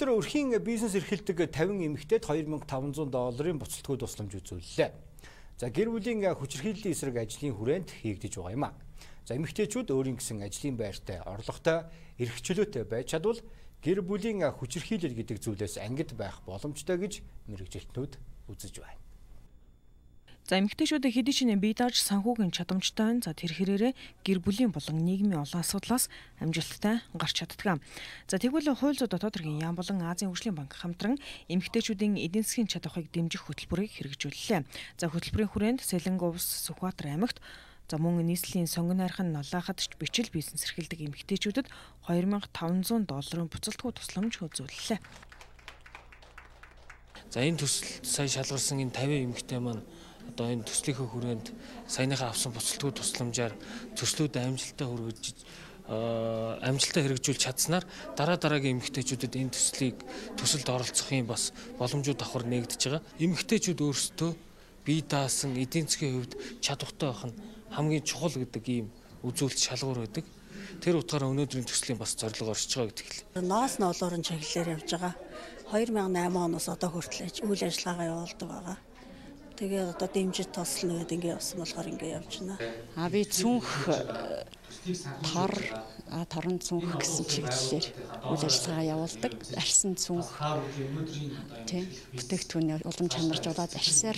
Өнөөдөр өрхийн бизнес эрхэлдэг 50 эмэгтэйд $2500 буцалтгүй тусламж үзүүллээ. За гэр бүлийн хүчирхийллийн эсрэг ажлын хүрээнд хийгдэж байгаа юм а. За эмэгтэйчүүд өөрийн гэсэн ажлын байртай орлоготой эрх чөлөөтэй байж чадвал гэр бүлийн хүчирхийлэл гэдэг зүйлээс ангид байх боломжтой гэж мэргэжилтнүүд үзэж байна. За эмэгтэйчүүдээ хэдий ч бие дааж санхүүгийн чадамжтай за тэр хэрээрээ гэр бүлийн болон нийгмийн олон асуудлаас амжилттай гарч чаддаг. За тэгвэл хууль зүйн дотоод хэргийн яам болон Азийн хөгжлийн банк хамтран эмэгтэйчүүдийн эдийн засгийн чадварыг дэмжих хөтөлбөрийг хэрэгжүүллээ. За хөтөлбөрийн хүрээнд Сэлэнг увс Сүхбаатар аймагт за мөн нийслэлийн сонгон найрхан Налахад бичил бизнес эрхэлдэг эмэгтэйчүүдэд $2500 буцалтгүй тусламж үзүүллээ. За энэ төсөл сая шалгарсан энэ 50 эмэгтэй маань одоо энэ төслийнхөө хүрээнд саяныхаа авсан буцалтгүй тусламжаар төслүүд амжилттай хэрэгжүүлж чадсанаар дараагийн эмэгтэйчүүдэд энэ төсөлд оролцохын бас боломжууд давхар нээгдэж байгаа. Эмэгтэйчүүд өөрсдөө бие даасан эдийн засгийн хувьд чадвартай байх нь хамгийн чухал гэдэг ийм үзүүлэлт шалгуур байдаг. Тэр утгаараа өнөөдрийн төслийн бас зорилго оршиж байгаа гэдэг л. Ноос ноолуурын чиглэлээр явж байгаа. 2008 оноос одоо хүртэл үйл ажиллагаа явуулдаг байгаа. Тэгээд одоо дэмжиж тослно гэдэг ингэ явсан болохоор ингэ явж байна. Би цүнх торон цүнх гэсэн чиглэлээр үйл ажиллагаа явуулдаг. Арьсан цүнх бүтээгдэхүүний улам чанаржуулаад арьсаар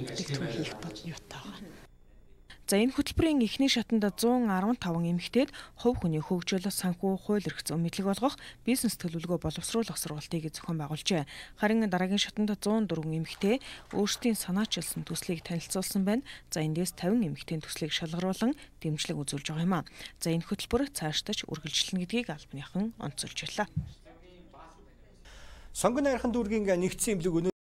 бүтээгдэхүүн хийх юутай байгаа. За энэ хөтөлбөрийн эхний шатанд 115 эмэгтэйд хувь хүний хөгжил, санхүү, хууль эрх зүйн мэдлэг олгох, бизнес төлөвлөгөө боловсруулах сургалтыг зохион байгуулжээ. Харин дараагийн шатанд 104 эмэгтэй өөрсдийн санаачилсан төслийг танилцуулсан байна. За эндээс 50 эмэгтэйн төслийг шалгаруулан дэмжлэг үзүүлж байгаа юм а. За энэ хөтөлбөр цаашдаж үргэлжилнэ гэдгийг албаныхан онцолж байлаа. Сонгон найрхан дүүргийн нэгдсэн эмнэлэг